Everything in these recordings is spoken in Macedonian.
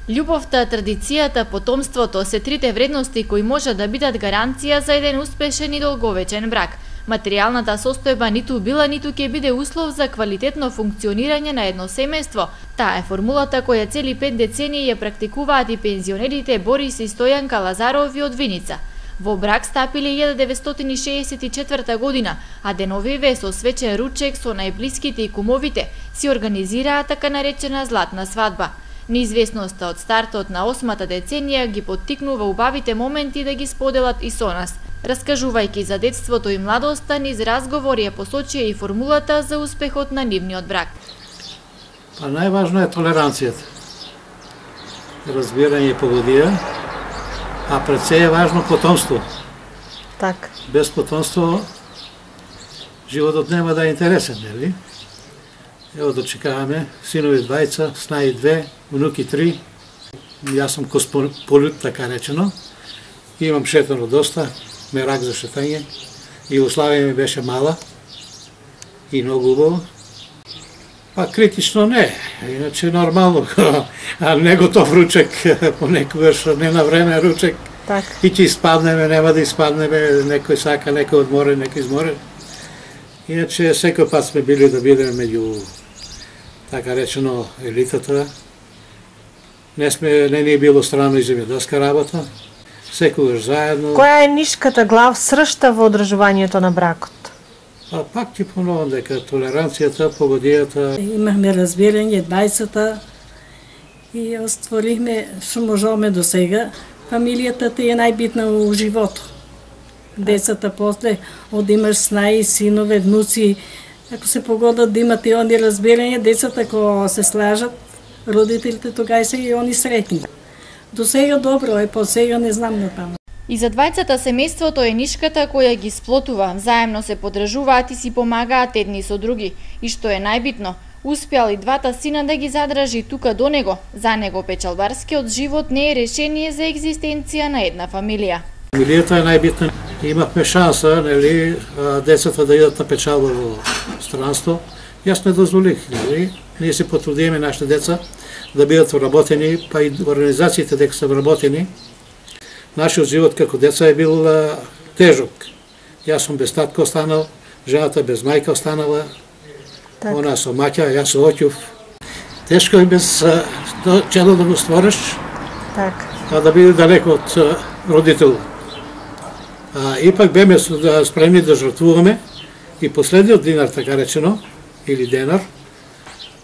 Љубовта, традицијата, потомството се трите вредности кои може да бидат гаранција за еден успешен и долговечен брак. Материјалната состојба ниту била, ниту ќе биде услов за квалитетно функционирање на едно семејство. Таа е формулата која цели 5 децении ја практикуваат и пензионерите Борис и Стојанка Лазарови од Виница. Во брак стапиле 1964 година, а деновиве со свечен ручек со најблиските и кумовите си организираа така наречена златна свадба. Неизвестноста од стартот на 8-та деценија ги поттикнува убавите моменти да ги споделат и со нас. Раскажувајќи за детството и младоста, низ разговори ја посочија и формулата за успехот на нивниот брак. Па најважно е толеранцијата, разбирање и погодија, а пред се е важно потомство. Так. Без потомство животот нема да е интересен, нели? Ево дочекаваме синови 2, снаи 2, внуки 3. Јас сум космополит, така речено. Имам шетано доста, мерак за шетање. Југославија ми беше мала и многу убаво. Па критично не, иначе нормално, а не готов ручек, понекогаш не на време ручек. Так. И ќе испаднеме, нема да испаднеме, некој сака, некој одморен, некој изморен. Иначе секој пат сме били да бидеме меѓу, така речено, елитата. Не ни е било странно и земјоделска работа. Секогаш заедно. Која е нишката глав сршта во одржувањето на бракот? А пак ти поновам дека толеранцијата, погодијата. Имахме разбирање 20-та и остварихме што можеме до сега. Фамилијата ти е најбитна во животот. Децата после, од имаш снаи, синове, внуци, ако се погодат да имат и они разбирање, децата ако се слажат, родителите тогава се и они сретни. До сега добро е, по сега не знам натаму. И за двајцата семејството е нишката која ги сплотува, заемно се подржуваат и си помагаат едни со други. И што е најбитно, успеал и двата сина да ги задржи тука до него. За него печалбарскиот живот не е решение за екзистенција на една фамилија. Фамилијата е најбитна. Имавме шанса, нели, децата да идат на печалба во странство. Јас не дозволих, нели? Ние се потрудиме нашите деца да бидат вработени, па и организациите дека се вработени. Нашиот живот како деца е бил тежок. Јас сум без татко останал, жената без мајка останала, так. Она со маќа, јас со оќув. Тешко е без чело да го створиш, так. А да биде далеко од родител. Ипак беме спремни да жртвуваме и последниот динар, така речено, или денар,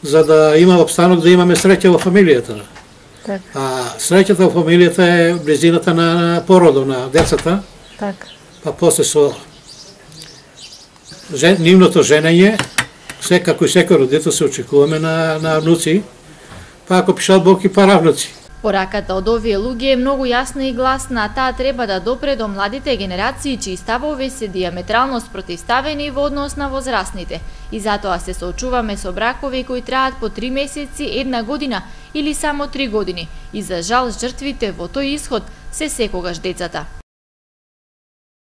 за да има обстанок, да имаме среќа во фамилијата. Так. А среќата во фамилијата е близината на породо на децата. Так. Па после со нивното женење, како и секој родител се очекуваме на внуци, па ако пишат Бог и паравнуци. Пораката од овие луѓе е многу јасна и гласна, а таа треба да допре до младите генерации чии ставови се диаметрално спротивставени во однос на возрастните. И затоа се соочуваме со бракови кои траат по 3 месеци, 1 година или само 3 години. И за жал жртвите во тој исход се секогаш децата.